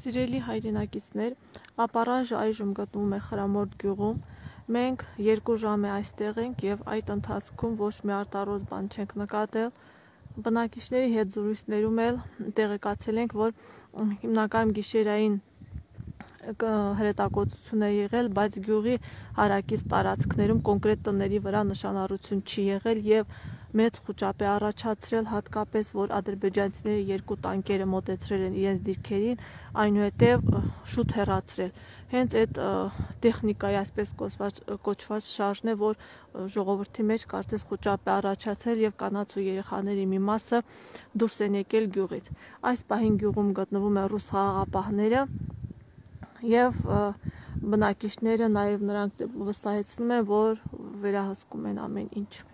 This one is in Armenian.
Սիրելի հայրենակիցներ, ապառաժը այժմ գտնվում է Խրամորդ գյուղում։ Մենք 2 ժամ է այստեղ ենք եւ այդ ընթացքում ոչ մի արտարոց բան չենք նկատել։ Բնակիչների հետ զրույցներում էլ տեղեկացել ենք, որ հիմնականում գիշերային հրետակոծություն է եղել, բայց գյուղի հարակից տարածքներում կոնկրետ տների վրա նշանառություն չի եղել եւ մեծ խուճապ է առաջացրել, հատկապես որ ադրբեջանցիները 2 տանկերը մոտեցրել են իրենց դիրքերին, այնուհետև շուտ հեռացրել։ Հենց այդ տեխնիկայի այսպես կոչված շարժն է, որ ժողովրդի մեջ կարծես խուճապ է առաջացել եւ կանանց ու երեխաների մի մասը դուրս են եկել գյուղից։ Այս պահին գյուղում գտնվում են ռուս խաղաղապահները եւ բնակիչները նաեւ նրանք վստահեցնում են, որ վերահսկում են ամեն ինչ։